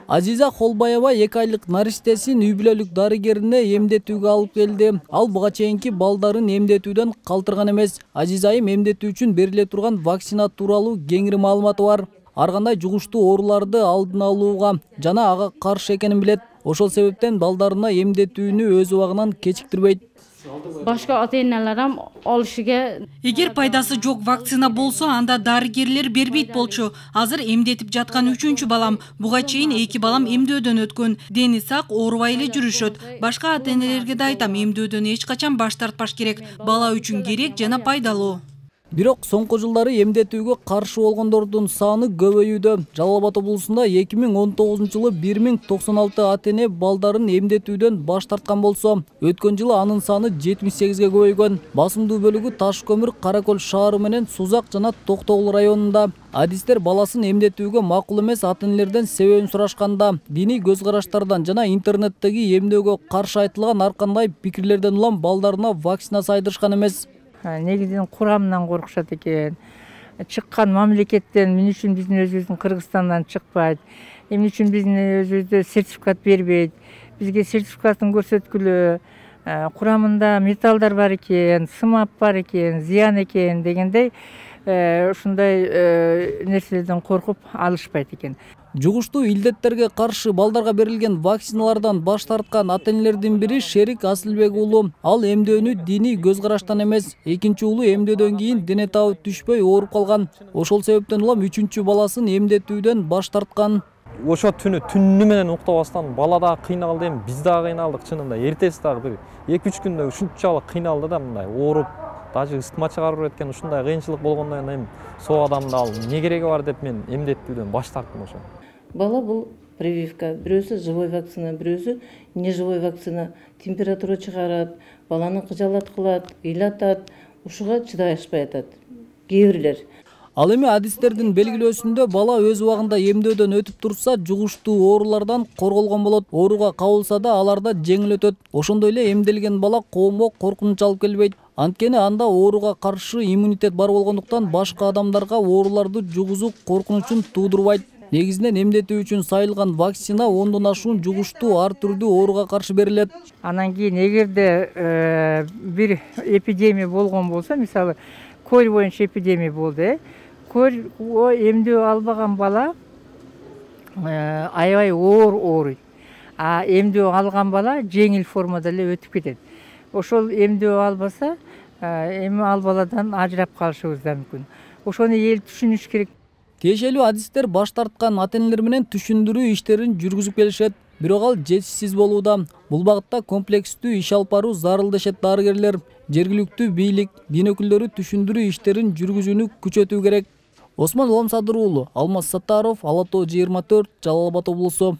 Азиза Холбаева 2 айлык нариштесин үй бүлөлүк дарыгерине эмдетүүгө алып келди. Ал буга чейинки балдарын эмдетүүдөн калтырган эмес. Азиза айым эмдетүү үчүн бериле турган вакцина тууралуу кеңири маалыматы бар. Ар кандай жугуштуу ооруларды алдын алууга жана ага каршы экенин билет. Ошол себептен балдарына эмдетүүнү өз убагынан кечиктирбейт. Башка ата-эналар ham алышыга. Эгер пайдасы жок вакцина болсо, анда дарыгерлер бербейт болчу. Азыр эмдетип жаткан 3-чү балам. Буга чейин 2 балам эмдөөдөн өткөн. Дени сак, оорубай эле жүрүшөт. Башка ата-энелерге да айтам, эмдөөдөн эч качан баш тартпаш керек. Бала үчүн керек жана пайдалуу. Бирок соңку жылдары эмдетүүгө каршы болгондордун саны көбөйүүдө. Жалал Абад облусунда 2019-жылы 1096 ата-эне балдарын эмдетүүдөн баш тарткан болсо, өткөн жылы анын саны 78ге көбөйгөн. Басымдуу бөлүгү Таш көмүр, Кара Көл шаары менен Сузак жана Токтогул районунда. Адистер баласын эмдетүүгө макул эмес ата-энелерден себебин сурашканда, диний көз караштардан жана интернеттеги эмдөөгө каршы айтылган ар кандай пикирлерден улам балдарына вакцина сайдырышкан эмес. Негизинен курамынан коркушат экен. Чыккан мамлекеттен эмне үчүн биздин өзүбүздүн Кыргызстандан чыкпайт? Эмне үчүн биздин өзүбүздө сертификат бербейт? Бизге сертификатын көрсөткүлө. Курамында металлдар бар экен, сымап бар экен, зыян экен дегендей ушундай нерселерден коркуп алышпайт экен. Жугуштуу илдеттерге каршы балдарга берилген вакциналардан баш тарткан ата-энелердин бири Шерик Асылбек уулу. Ал эмдөөнү диний көз караштан эмес, экинчи уулу эмдөөдөн кийин дене табы түшпөй ооруп калган. Ошол себептен улам 3-чү баласын эмдетүүдөн баш тарткан. Ошо түнү менен уктабастан бала да кыйналды, эми биз да кыйналдык чынында. Эртеси дагы бир 2-3 күндө ушунчалык кыйналды да мындай ооруп, даже ыстма чыгарып кеткен ушундай кыйынчылык болгондон кийин эми сол адамды ал эмне кереги бар деп мен эмдетүүдөн баш тарттым ошо. Бала бул прививка, бирөөсү живой вакцина, бирөөсү неживой вакцина. Температура чыгарат, баланы кыжалат кылат, ыйлатат, ушуга чыдай ашпай атат. Кээ бирлер. Ал эми адистердин белгилөөсүндө бала өз убагында эмдөөдөн өтүп турса, жугуштуу оорулардан корголгон болот. Ооруга кабылса да аларда жеңил өтөт. Ошондой эле эмделген бала коомго коркунуч алып келбейт. Анткени анда ооруга каршы иммунитет бар болгондуктан башка адамдарга ооруларды жугузуу коркунучун туудурбайт. Негизинен эмдетүү үчүн сайылган вакцина 10дон ашуун жугуштуу ар түрдүү ооруга каршы берилет. Анан кийин эгерде бир эпидемия болгон болсо, мисалы, көл боюнча эпидемия болду, көл эмдөө албаган бала аябай ооруйт. А эмдөө алган бала жеңил формада эле өтүп кетет. Ошол эмдөө албаса, эми ал баладан ажырап калышыбыз да мүмкүн. Ошону эл түшүнүш керек. Тиешелүү адистер баш тарткан ата-энелер менен түшүндүрүү иштерин жүргүзүп келишет, бирок ал жетишсиз болууда. Бул багытта комплекстүү иш алып баруу зарыл дешет дарыгерлер. Жергиликтүү бийлик, дин өкүлдөрү түшүндүрүү иштерин жүргүзүүнү күчөтүү керек. Осмон Уламсадыр уулу, Алмаз Саттаров, Ала Тоо 24, Жалал Абад облусу.